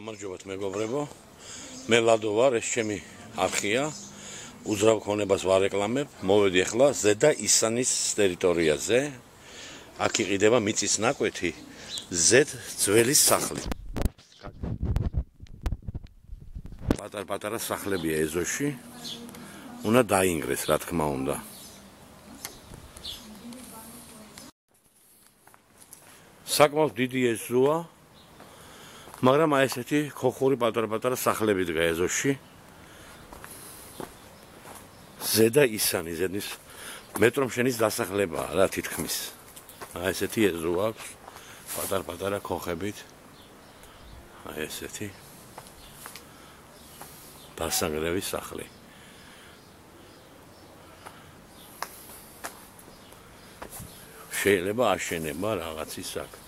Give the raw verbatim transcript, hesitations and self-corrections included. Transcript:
გამარჯობათ მეგობრებო, მე ლადო ვარ, ეს ჩემი არხია, უძრავ ქონებას ვარეკლამებ, მოვედი ახლა ზედა ისანის ტერიტორიაზე, აქ იყიდება მიწის ნაკვეთი, ზედ ძველის სახლი. პატარ-პატარა სახლებია ეზოში, უნდა დაინგრეს, რა თქმა უნდა. საკმაოდ დიდი ეზოა, მაგრამ აი ესეთი ხოხური პატარ-პატარა სახლები დგა ეზოში. ზედა ისანი, ზედის მეტრომშენის დასახლებაა რა თითქმის. აი ესეთი ეზო აქვს, პატარ-პატარა ხოხებით. აი ესეთი დასანგრევის სახლი. შეიძლება აშენება რაღაცის აქ.